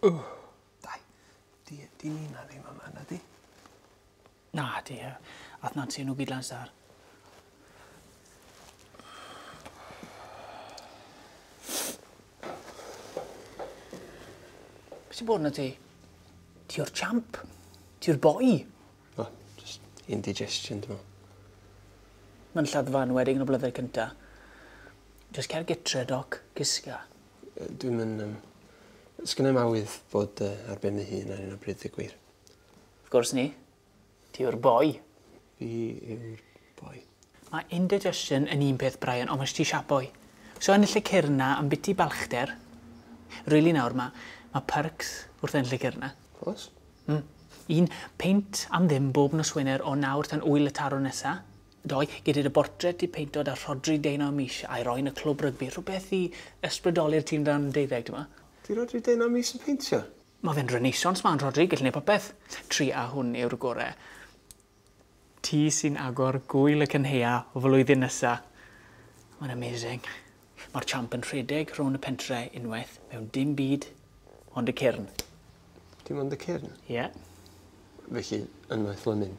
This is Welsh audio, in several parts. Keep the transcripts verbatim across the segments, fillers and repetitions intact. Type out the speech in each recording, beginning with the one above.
Dai, di, di Nina ddim yma, na di? Na, di. Ath Nancy nhw gyd lan star. Be sy'n bod na ti? Ti o'r champ. Ti o'r boi. O, just indigestion, dwi'n meddwl. Mae'n lladdfa yn wedig yn y blynyddoedd cynta. Just cer gytre, Doc. Gysga. Dwi'n mynd... Um, sgynna i'm awydd bod uh, ar ben fy hun ar un o bryd, y gwir. Of gwrs ni. Ti yw'r boi. Fi yw'r boi. Mae indigestion yn un peth, Brian, ond mae ti siap boi. So ennill y cyrn na am biti balchder. Really nawr, mae ma perks wrth ennill y cyrn na. Oes? Mm. Un, peint am ddim bob nos Wener o nawr tan wyl y taro nesa. Doi, gyda dy bortret i peinto da Rhodri Deunaw mis a'i roi yn y clwb rygbi. Rhywbeth i ysbrydoli'r tîm dan deuddeg, dyma. Di Rhodri Deunaw mis yn peintio? Mae fe'n Renaissance man, Rhodri, gallu neud popeth. Tri a hwn yw'r gore. Ti sy'n agor gwyl y cynhaea o flwyddyn nesa. Mae'n amazing. Mae'r champ yn rhedeg rhwng y pentre unwaith mewn dim byd ond y cyrn. Dim ond y cyrn? Ie. Yeah. Felly, unwaith lymyn.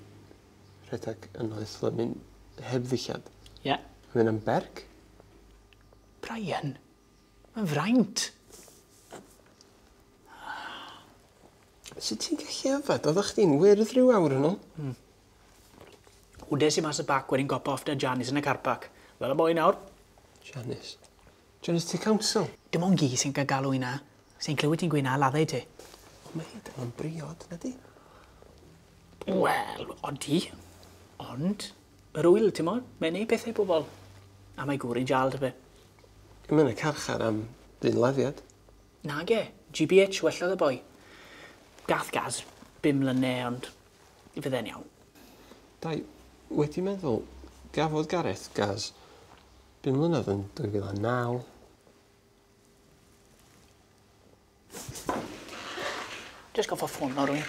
Rhedeg unwaith lymyn heb ddillad. Ie. Yeah. Mae'n am berg? Brian, mae'n fraint. Sut ti'n gallu yfed? Oeddech chdi'n wyrdd rhyw awr yn ôl? Mm. Wdes i mas y bac wedyn gop off da Janice yn y car park. Fel y boi nawr. Janice? Janice ti council? Dim ond gi sy'n cael galw i na. Sy'n clywed ti'n gweud na laddau ti. Ond mae hi dal yn briod, na di? Wel, odi. Ond, yr wyl, ti'n mo? Mae'n neud pethau bobl. A mae gŵr i'n jal, ty be. Mae'n y carchar am ddynladdiad. Nage. G B H wellodd y boi. Gath gas, bum mlynedd, ond fydde'n iawn. Dai, wedi meddwl, gafodd Gareth gas bum mlynedd yn dwy fil a naw. Just goffo ffôn o rywun.